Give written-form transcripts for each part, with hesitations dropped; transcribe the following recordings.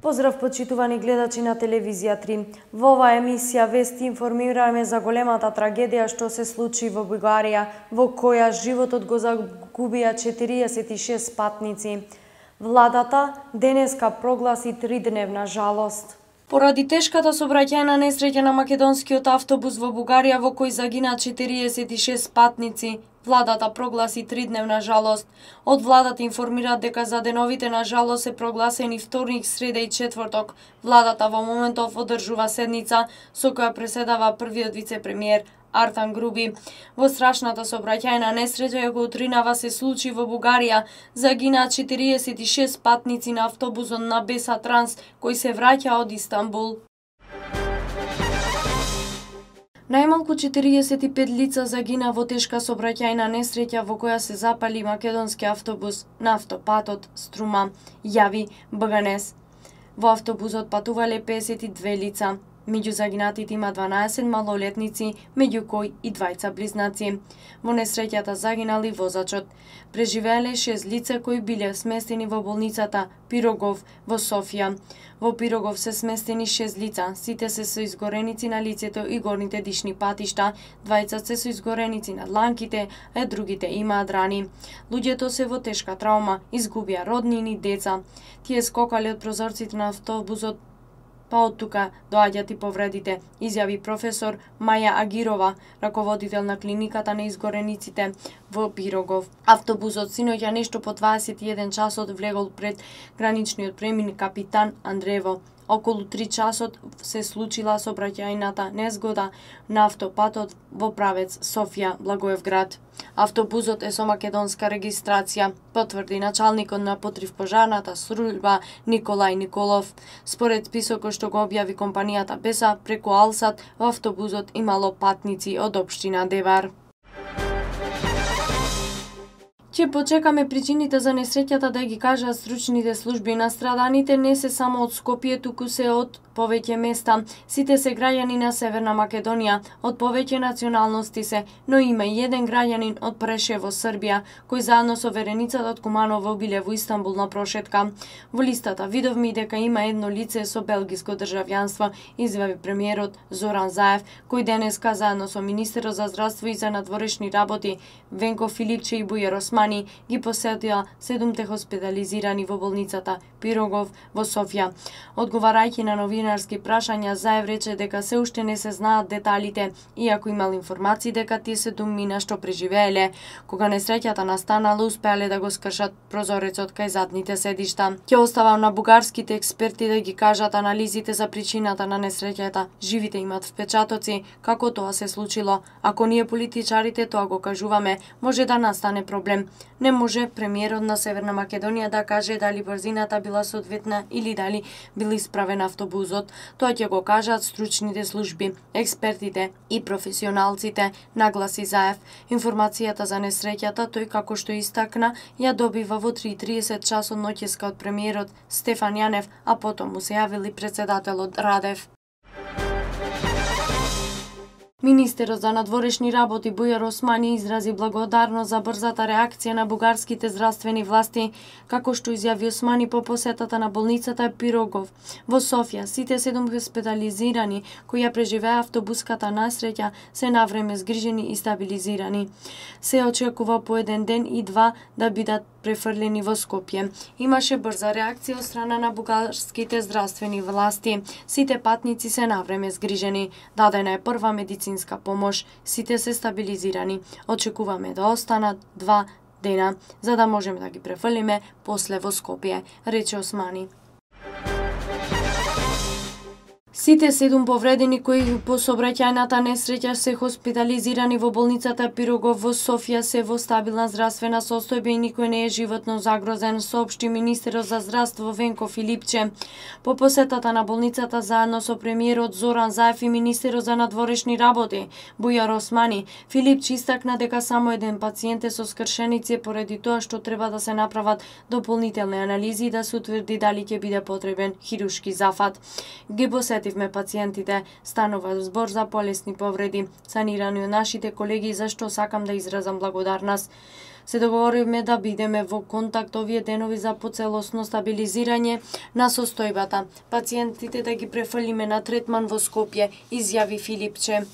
Поздрав почитувани гледачи на телевизија 3. Во оваа емисија Вести информираме за големата трагедија што се случи во Бугарија, во која животот го загубија 46 патници. Владата денеска прогласи 3-дневна жалост. Поради тешката сообраќајна несреќа на македонскиот автобус во Бугарија, во кој загина 46 патници, владата прогласи 3-дневна жалост. Од владата информираат дека за деновите на жалост се прогласени вторник, среда и четврток. Владата во моментов одржува седница со која преседава првиот вице-премиер Артан Груби. Во страшната сообраќајна несреќа која утринава се случи во Бугарија, загинаа 46 патници на автобусот на Беса Транс кој се враќа од Истанбул. Најмалку 45 лица загина во тешка сообраќајна несреќа во која се запали македонски автобус на автопатот Струма, јави БГНЕС. Во автобусот патувале 52 лица. Меѓу загинатите има 12 малолетници, меѓу кои и двајца близнаци. Во несреќата загинали возачот. Преживеале 6 лица кои биле сместени во болницата Пирогов во Софија. Во Пирогов се сместени 6 лица, сите се со изгореници на лицето и горните дишни патишта, двајца се со изгореници на дланките, а другите имаат рани. Луѓето се во тешка траума, изгубија роднини, деца. Тие скокале од прозорците на автобусот, па од тука доаѓаат и повредите, изјави професор Маја Агирова, раководител на клиниката на изгорениците во Пирогов. Автобусот синоќа нешто по 21 часот влегол пред граничниот премин Капитан Андреево. Околу 3 часот се случила сообраќајната незгода на автопатот во правец Софија Благоевград. Автобусот е со македонска регистрација, потврди началникот на противпожарната служба Николај Николов. Според списокот што го објави компанијата Беса преку Алсат, во автобусот имало патници од општина Девар. Ќе почекаме причините за несреќата да ги кажаат стручните служби. Настраданите не се само од Скопје, туку се од повеќе места. Сите се граѓани на Северна Македонија, од повеќе националности се, но има и еден граѓанин од Прешево, Србија, кој заедно со вереницата од Куманово биле во Истанбул на прошетка. Во листата видовме и дека има едно лице со белгиско државјанство, изјави премиерот Зоран Заев, кој денеска заедно со министерот за здравство и за надворешни работи Венко Филипче и Бујар Османи ги посетија 7 хоспитализирани во болницата Пирогов во Софија. Одговарајќи на новинарски прашања, Заев рече дека се уште не се знаат деталите, иако имал информации дека тие се домина што преживееле. Кога несреќата настанала, успеале да го скршат прозорецот кај задните седишта. Ќе оставам на бугарските експерти да ги кажат анализите за причината на несреќата. Живите имат впечатоци како тоа се случило. Ако ние политичарите тоа го кажуваме, може да настане проблем. Не може премиерот на Северна Македонија да каже дали брзината била соодветна или дали бил исправен автобусот. Тоа ќе го кажат стручните служби, експертите и професионалците, нагласи Заев. Информацијата за несреќата, тој како што истакна, ја добива во 3:30 часот ноќеска од премиерот Стефан Јанев, а потом му се јавил и председателот Радев. Министерот за надворешни работи Бујар Османи изрази благодарност за брзата реакција на бугарските здравствени власти, како што изјави Османи по посетата на болницата Пирогов во Софија. Сите 7 хоспитализирани кои ја преживеа автобуската несреќа се навреме згрижени и стабилизирани. Се очекува по еден ден и два да бидат префрлени во Скопје. Имаше брза реакција од страна на бугарските здравствени власти. Сите патници се навреме згрижени. Дадена е прва медицинска помош. Сите се стабилизирани. Очекуваме да останат 2 дена, за да можеме да ги префрлиме после во Скопје, рече Османи. Сите 7 повредени кои по сообраќајната несреќа се хоспитализирани во болницата Пирогов во Софија се во стабилна здравствена состојба и никој не е животно загрозен, соопшти министерот за здравство Венко Филипче. По посетата на болницата заедно со премиерот Зоран Заев и министерот за надворешни работи Бујар Османи, Филипче истакна дека само еден пациент е со скршеници поради тоа што треба да се направат дополнителни анализи и да се утврди дали ќе биде потребен хирушки зафат. Ги посетивме пациентите, станува збор за полесни повреди, санирани од нашите колеги, за што сакам да изразам благодарност. Се договоривме да бидеме во контакт овие денови за поцелосно стабилизирање на состојбата. Пациентите да ги префрлиме на третман во Скопје, изјави Филипче.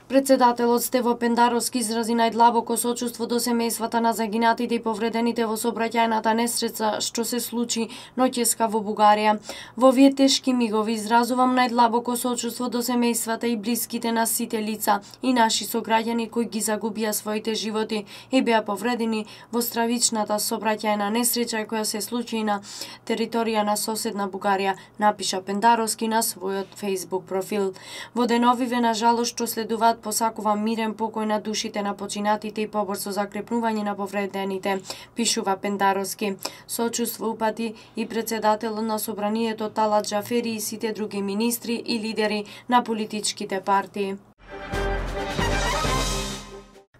Председателот Стево Пендаровски изрази најдлабоко сочувство до семејствата на загинатите и повредените во сообраќајната несреќа што се случи ноќеска во Бугарија. Во овие тешки мигови изразувам најдлабоко сочувство до семејствата и блиските на сите лица и наши сограѓани кои ги загубија своите животи и беа повредени во стравичната сообраќајна несреќа која се случи на територија на соседна Бугарија, напиша Пендаровски на својот Facebook профил. Во деновиве на жалост што следуваат посакувам мирен покој на душите на починатите и побрзо закрепнување на повредените, пишува Пендаровски. Сочувство упати и председателот на собранието Талат Џафери и сите други министри и лидери на политичките партии.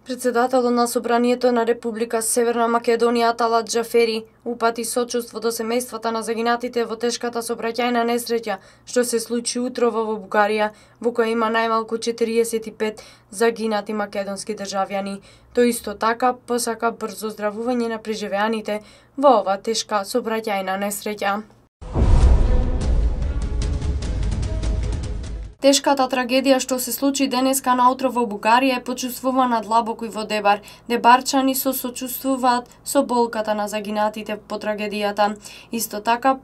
Председателот на собранието на Република Северна Македонија Талат Џафери упати сочувство до семејствата на загинатите во тешката сообраќајна несреќа што се случи утрово во Бугарија, во која има најмалку 45 загинати македонски државјани. Тој исто така посака брзо здравување на преживеаните во ова тешка сообраќајна несреќа. Тешката трагедија што се случи денеска наутро во Бугарија е почувствувана длабоко и во Дебар. Дебарчани се сочувствуваат со болката на загинатите по трагедијата. Исто така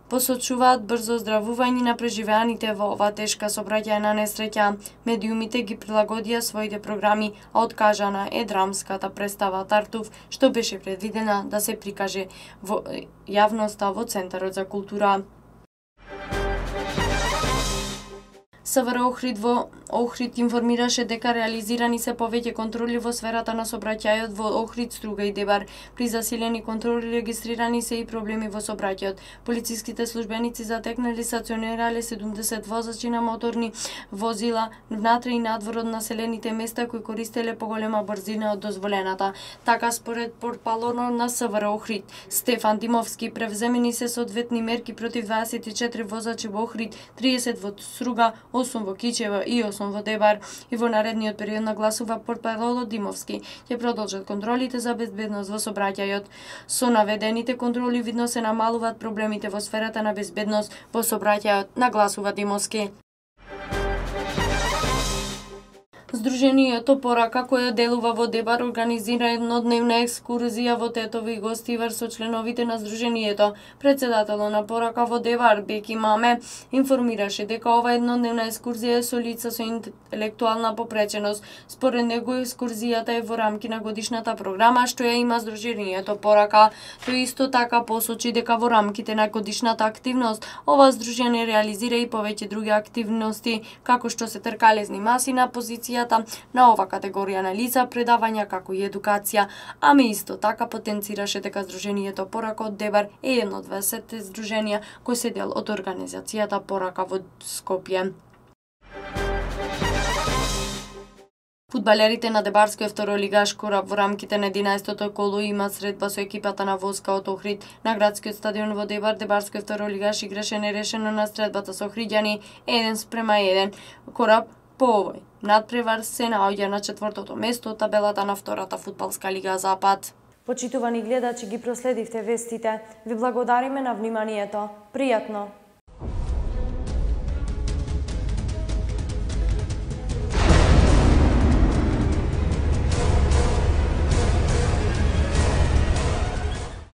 посочуваат брзо здравување на преживеаните во ова тешка сообраќајна несреќа. Медиумите ги прилагодија своите програми, а откажана е драмската представа Тартуф, што беше предвидена да се прикаже во јавноста во Центарот за култура. СВР Охрид во Охрид информираше дека реализирани се повеќе контроли во сферата на сообраќајот во Охрид, Струга и Дебар. При засилени контроли регистрирани се и проблеми во сообраќајот. Полициските службеници затекнали стационирале 70 возачи на моторни возила внатре и надвор од населените места кои користеле поголема брзина од дозволената. Така според портпалорот на СВР Охрид Стефан Димовски превземени се соодветни мерки против 24 возачи во Охрид, 30 во Струга, 8 во Кичево и 8 во Дебар, и во наредниот период нагласува портпаролот Димовски. Ќе продолжат контролите за безбедност во сообраќајот. Со наведените контроли видно се намалуваат проблемите во сферата на безбедност во сообраќајот, нагласува Димовски. Сдруженијето Порака, кое делува во Дебар, организира еднодневна екскурзија во Тетово и Гостивар со членовите на Сдруженијето. Председателот на Порака во Дебар, Беки Маме, информираше дека ова еднодневна екскурзија е со лица со интелектуална попреченост. Според него екскурзијата е во рамки на годишната програма што ја има Сдруженијето Порака. Тој исто така посочи дека во рамките на годишната активност ова сдружение реализира и повеќе други активности, како што се тркалезни маси на позиција на ова категорија на лица, предавања како и едукација, ами исто така потенцираше дека Сдруженијето Порака од Дебар е едно од 20 сдруженија кои се дел од организацијата Порака во Скопје. Фудбалерите на Дебарскиот второлигаш Кораб во рамките на 11-то коло имаат средба со екипата на Воска од Охрид. На градскиот стадион во Дебар, Дебарскиот второлигаш играше нерешено на средбата со Охриѓани 1:1. Кораб по овој надпревар се наоѓа на 4-то место од табелата на втората фудбалска лига Запад. Почитувани гледачи, ги проследивте вестите. Ви благодариме на вниманието. Пријатно!